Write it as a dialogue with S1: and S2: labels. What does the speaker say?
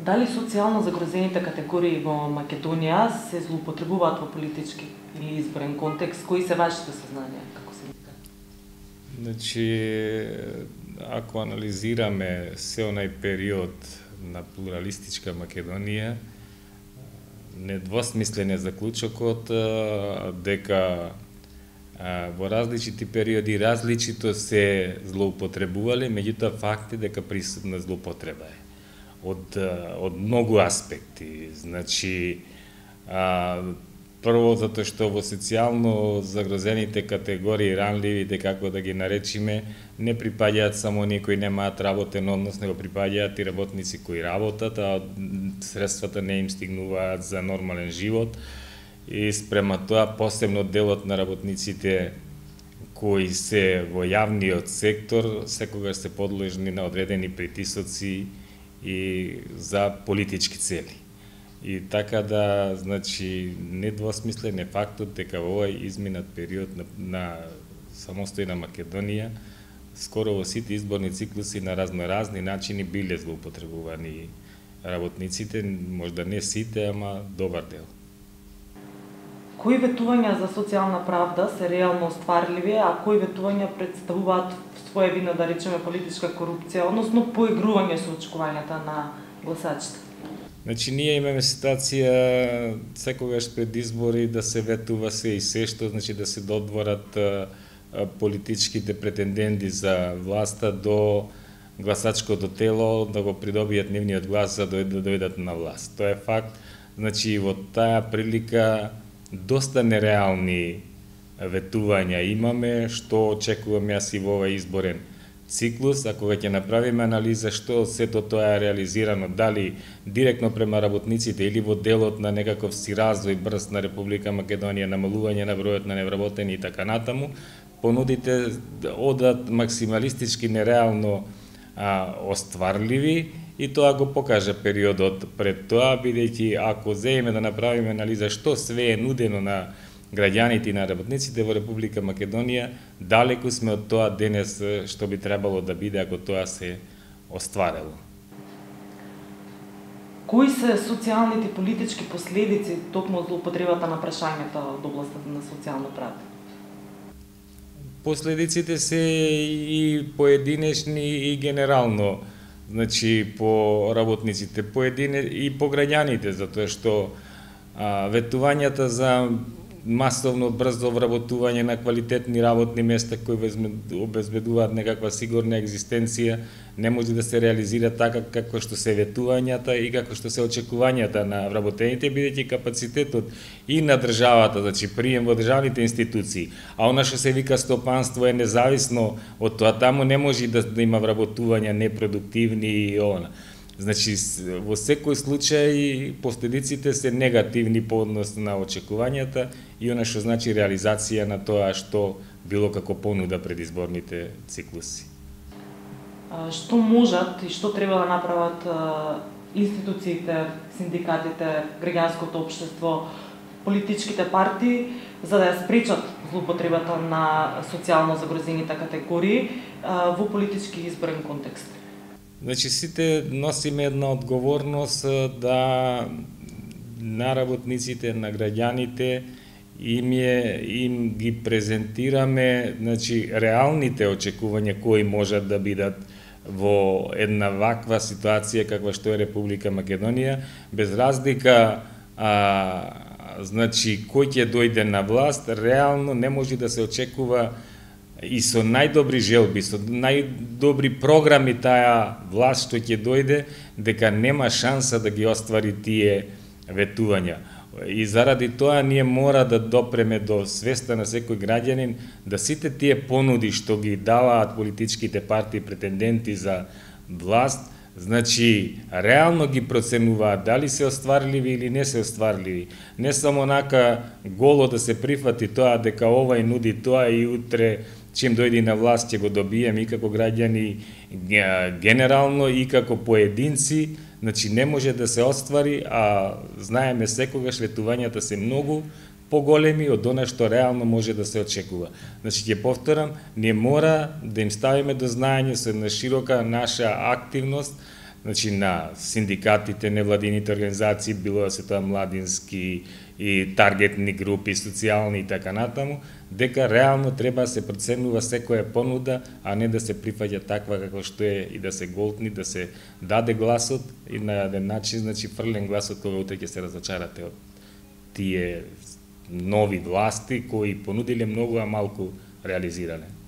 S1: Дали социјално загрозените категории во Македонија се злоупотребуваат во политички или изборен контекст? Кои се вашите сознанија, како се вика?
S2: Значи, ако анализираме се онај период на плуралистичка Македонија, недвосмислен е заклучокот дека во различити периоди различито се злоупотребувале, меѓутоа факт е дека присутна злоупотреба е од многу аспекти. Значи, прво затоа што во социјално загрозените категории, ранливите, како да ги наречиме, не припаѓаат само оние кои немаат работен однос, него припаѓаат и работници кои работат, а средствата не им стигнуваат за нормален живот. И спрема тоа, посебно делот на работниците кои се во јавниот сектор, секогаш се подложни на одредени притисоци и за политички цели. И така да, значи, недвосмислен е фактот дека во овој изминат период на самостојна Македонија, скоро во сите изборни циклуси на разноразни начини биле злоупотребувани работниците, можда не сите, ама добар дел.
S1: Кои ветувања за социјална правда се реално остварливи, а кои ветувања представуваат своевидна, да речеме, политичка корупција, односно поигрување со очекувањата на гласачите?
S2: Значи, ние имаме ситуација секогаш пред избори да се ветува се и се што, значи да се додворат политичките претенденти за власта до гласачкото тело, да го придобијат нивниот глас за да дојдат на власт. Тоа е факт. Значи, во таа прилика доста нереални ветувања имаме, што очекувам јас и во овој изборен циклус, а кога ќе направиме анализа што сето тоа е реализирано, дали директно према работниците или во делот на некаков си развој брз на Република Македонија, намалување на бројот на невработени и така натаму, понудите одат максималистички нереално остварливи, и тоа го покажа периодот пред тоа, бидејќи ако земеме да направиме анализа што све е нудено на граѓаните и на работниците во Република Македонија, далеку сме од тоа денес што би требало да биде ако тоа се остварило.
S1: Кои се социјалните и политички последици токму од злоупотребата на прашањата од областта на социјална правда?
S2: Последиците се и поединечни и генерално, значи по работниците, и по граѓаните, затоа што ветувањата за масовно брзо вработување на квалитетни работни места кои обезбедуваат некаква сигурна екзистенција не може да се реализира така како што се ветувањата и како што се очекувањата на вработените, бидејќи капацитетот и на државата, значи прием во државните институции, а она што се вика стопанство е независно од тоа, таму не може да има вработувања непродуктивни и она. Значи, во секој случај, последиците се негативни по однос на очекувањата и она што значи реализација на тоа што било како понуда пред изборните циклуси.
S1: Што можат и што треба да направат институциите, синдикатите, граѓанското општество, политичките партии, за да ја спречат злоупотребата на социјално загрозените категории во политички изборен контекст?
S2: Значи, сите носиме една одговорност да на работниците, на граѓаните им ги презентираме, значи, реалните очекувања кои можат да бидат во една ваква ситуација каква што е Република Македонија, без разлика значи кој ќе дојде на власт, реално не може да се очекува и со најдобри желби, со најдобри програми таа власт што ќе дојде, дека нема шанса да ги оствари тие ветувања. И заради тоа ние мора да допреме до свеста на секој граѓанин да сите тие понуди што ги даваат политичките партии претенденти за власт, значи реално ги проценуваат дали се остварливи или не се остварливи. Не само онака голо да се прифати тоа дека овај нуди тоа и утре чим дојде на власт ќе го добиеме и како граѓани генерално и како поединци, значи не може да се оствари, а знаеме секогаш ветувањата се многу поголеми од она што реално може да се очекува. Значи ќе повторам, ние мора да им ставиме до знаење со една широка наша активност значи на синдикатите, невладините организации, било да се тоа младински и таргетни групи, социјални и така натаму, дека реално треба да се проценува секоја понуда, а не да се прифаќа таква како што е и да се голтни, да се даде гласот и на еден начин, значи фрлен гласот кога утре ќе се разочарате од тие нови власти кои понудиле многу, а малку реализирале.